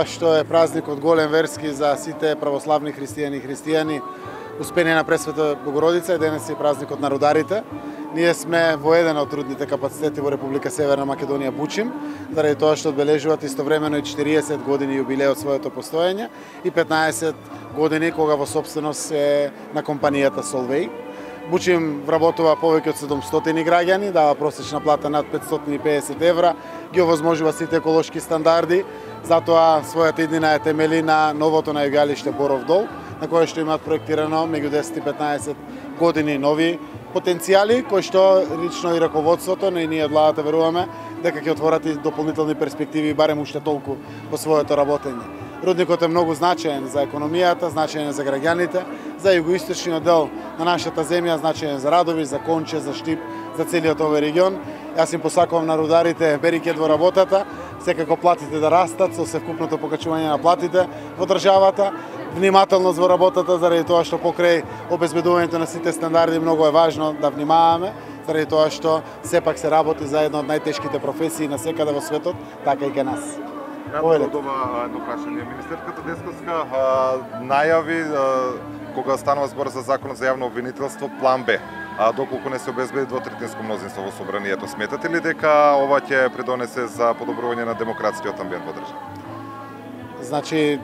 Што е празник од голем верски за сите православни христијани и христијани, успение на Пресвета Богородица, и денес е празникот на рударите. Ние сме во еден од трудните капацитети во Република Северна Македонија Бучим, заради тоа што одбележуваат истовремено и 40 години јубилеј од своето постоење и 15 години кога во собственост е на компанијата Солвеј. Бучим вработува повеќе од 700 граѓани, дава просечна плата над 550 евра, ги овозможува сите еколошки стандарди, затоа својата иднина е темели на новото најгалиште Боров дол, на кое што имаат проектирано меѓу 10 и 15 години нови потенцијали, кои што лично и раководството, но и ние од владата веруваме дека ќе отворат и дополнителни перспективи барем уште толку по своето работење. Рудникот е многу значаен за економијата, значаен за граѓаните, за југоисточниот дел на нашата земја, значаен за Радови, за Конче, за Штип, за целиот овој регион. Јас им посакувам на рударите берикет во работата, секако платите да растат со севкупното покачување на платите во државата, внимателност во работата, заради тоа што покрај обезбедувањето на сите стандарди многу е важно да внимаваме, заради тоа што сепак се работи за една од најтешките професии на секаде во светот, така и кај нас. Од ова едно прашање. Министерката Десковска најави кога станува збор за законот за јавно обвинителство план Б. Доколку не се обезбеди двотретинско мнозинство во собранието, сметате ли дека ова ќе придонесе за подобрување на демократскиот амбиент во државата? Значи,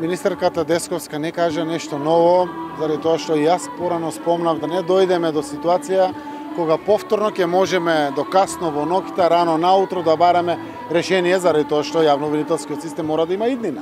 министерката Десковска не кажа нешто ново, заради тоа што и јас порано спомнав да не дојдеме до ситуација кога повторно ќе можеме до касно во ноќта, рано наутро да бараме решение, заради тоа што јавно-обвинителскиот систем мора да има иднина.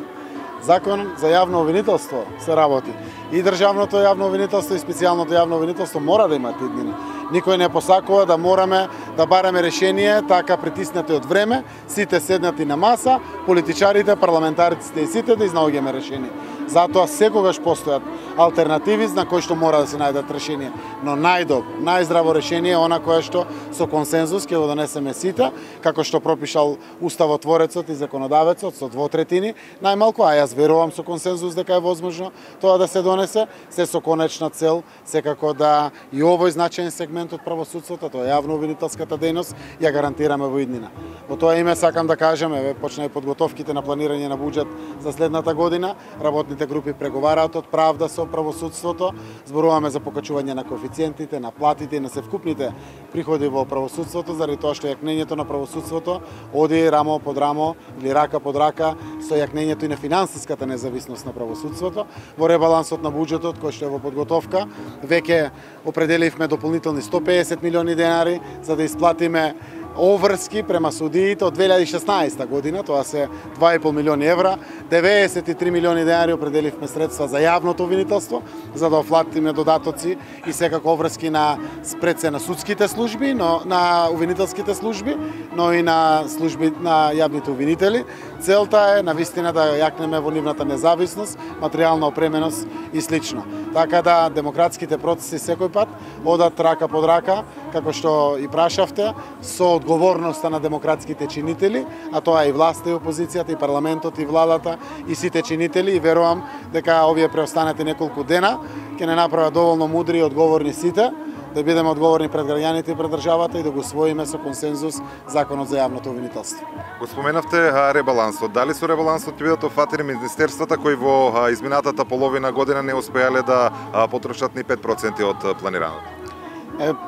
Закон за јавно обвинителство се работи. И државното јавно обвинителство и специјалното јавно обвинителство мора да имат иднина. Никој не посакува да мораме да бараме решение така притиснати од време, сите седнати на маса, политичарите, парламентариците и сите да изнаоѓаме решение. Затоа секогаш постојат алтернативи на кои што мора да се најдат решение. Но најдобро, најздраво решение е она кое што со консензус ќе го донесеме сите, како што пропишал уставотворецот и законодавецот со двотретини, најмалку, а јас верувам со консензус дека е возможно тоа да се донесе, се со конечна цел секако да и овој значаен сегмент од правосудството, тоа јавно обвинителската дејност, ја гарантираме во иднина. Во тоа име сакам да кажам, почна и подготовките на планирање на буџет за следната година, работните групи преговараат од правда со правосудството, зборуваме за покачување на коефициентите, на платите и на севкупните приходи во правосудството, заради тоа што јакнењето на правосудството оди рамо под рамо или рака под рака со јакнењето и на финансиската независност на правосудството. Во ребалансот на буџетот кој што е во подготовка, веќе определивме дополнителни 150 милиони денари за да исплатиме оврски према судиите од 2016 година, тоа се 2,5 милиони евра, 93 милиони денари определивме средства за јавното обвинителство, за да офлатиме додатоци и секако оврски на спреце на судските служби, но на обвинителските служби, но и на служби на јавните обвинители. Целта е навистина да јакнеме во нивната независност, материјална опременост и слично. Така да демократските процеси секој пат одат рака под рака, како што и прашавте, со одговорноста на демократските чинители, а тоа е и власта и опозицијата, и парламентот, и владата, и сите чинители, и верувам дека овие преостанати неколку дена ќе не направат доволно мудри и одговорни сите, да бидеме одговорни пред граѓаните и пред државата и да го усвоиме со консензус законот за јавното обвинителство. Го споменавте ребалансот. Дали со ребалансот ќе бидат офатени министерствата кои во изминатата половина година не успеале да потрошат ни 5% од планираното?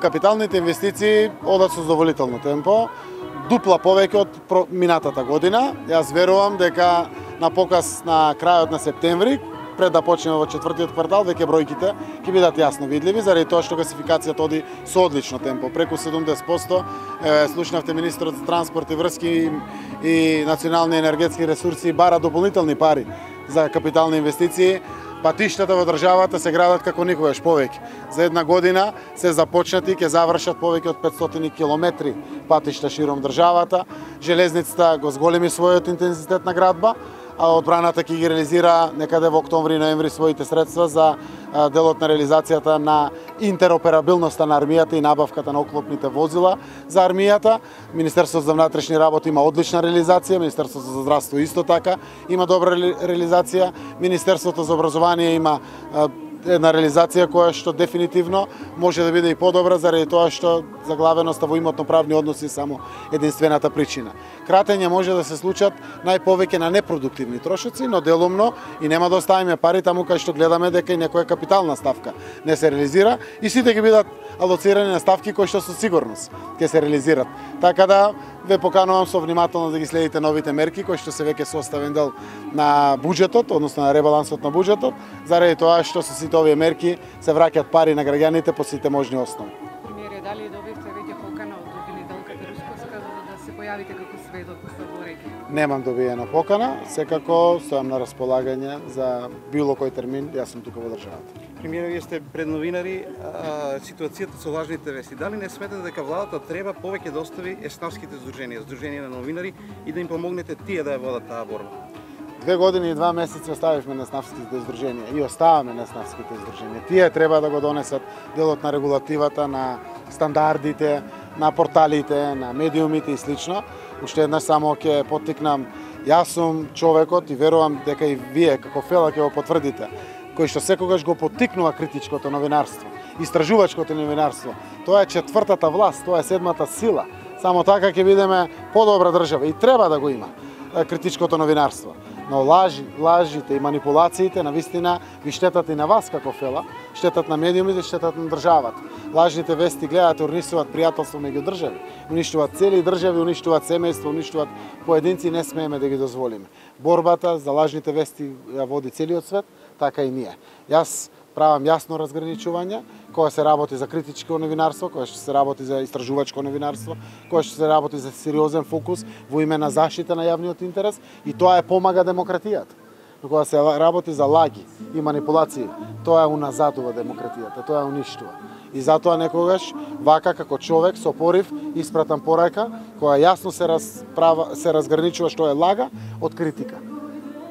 Капиталните инвестиции одат со задоволително темпо, дупла повеќе од минатата година. Јас верувам дека на показ на крајот на септември, пред да почнеме во четвртиот квартал, веќе бројките ќе бидат јасно видливи, заради тоа што гасификацијата оди со одлично темпо, преку 70%. Слушнавте министерот за транспорт и врски и национални енергетски ресурси бара дополнителни пари за капитални инвестиции. Патиштата во државата се градат како никогаш повеќе. За една година се започнати, ќе завршат повеќе од 500 километри патишта широм државата. Железницата го зголеми својот интензитет на градба, а одбраната ќе ги реализира некаде во октомври-ноември своите средства за делот на реализацијата на интероперабилноста на армијата и набавката на оклопните возила за армијата. Министерството за внатрешни работи има одлична реализација, Министерството за здравство исто така има добра реализација, Министерството за образование има една реализација која што дефинитивно може да биде и подобра заради тоа што заглавеноста во имотно-правни односи само единствената причина. Кратење може да се случат најповеќе на непродуктивни трошоци, но делумно и нема да оставиме пари таму кај што гледаме дека и некоја капитална ставка не се реализира и сите ќе бидат алоцирани на ставки кои што со сигурност ќе се реализират. Така да ве поканувам со внимателно да ги следите новите мерки кои што се веќе составен дел на буџетот, односно на ребалансот на буџетот, заради тоа што со сите овие мерки се враќаат пари на граѓаните по сите можни основи. Премиере, дали добивте веќе покана од обвинителката Русковска за да се појавите како сведок во регија? Немам добиена покана, секако стојам на располагање за било кој термин, јас сум тука во државата. Премиере, вие сте пред новинари, ситуацијата со лажните вести. Дали не сметате дека владата треба повеќе да остави еснавските здруженија на новинари и да им помогнете тие да ја водат таа борба? 2 години и 2 месеци оставивме неснавските здруженија и оставаме неснавските здруженија. Тие треба да го донесат делот на регулативата, на стандардите, на порталите, на медиумите и слично. Уште еднаш само ќе поттикнам, јас сум човекот и верувам дека и вие како Фела ќе го потврдите, кој што секогаш го поттикнува критичкото новинарство, истражувачкото новинарство. Тоа е четвртата власт, тоа е седмата сила. Само така ќе бидеме подобра држава и треба да го има критичкото новинарство. Но лажите и манипулациите навистина ви штетат и на вас како Фела, штетат на медиумите, штетат на државата. Лажните вести гледат, уништуваат пријателство меѓу држави, уништуваат цели држави, уништуваат семејства, уништуваат поединци, не смееме да ги дозволиме. Борбата за лажните вести ја води целиот свет, така и ние. Јас правам јасно разграничување, кога се работи за критичко новинарство, кога што се работи за истражувачко новинарство, кога што се работи за сериозен фокус во име на заштита на јавниот интерес и тоа е помага демократијата. Но кога се работи за лаги и манипулации, тоа е уназадува демократијата, тоа е уништува. И затоа некогаш вака како човек со порив испратам порака која јасно се разграничува што е лага од критика.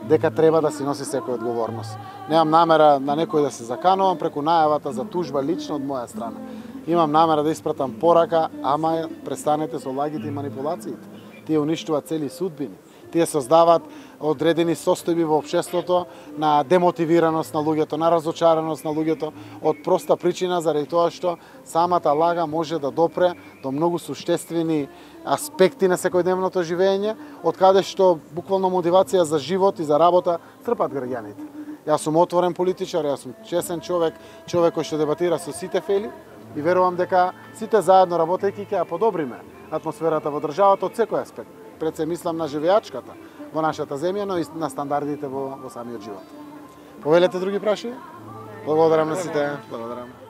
Дека треба да си носи секој одговорност. Немам намера на некој да се заканувам преку најавата за тужба лично од моја страна. Имам намера да испратам порака, ама престанете со лагите и манипулациите. Тие уништуваат цели судбини. Тие создаваат одредени состојби во општеството на демотивираност на луѓето, на разочараност на луѓето, од проста причина заради тоа што самата лага може да допре до многу суштествени аспекти на секојдневното живење, од каде што буквално мотивација за живот и за работа трпат граѓаните. Јас сум отворен политичар, јас сум чесен човек, човек кој што дебатира со сите Фели и верувам дека сите заедно работејќи ќе ја подобриме атмосферата во државата од секој аспект. Пред се мислам на живеачката во нашата земја, но и на стандардите во самиот живот. Повелете други прашања? Благодарам на сите. Благодарам.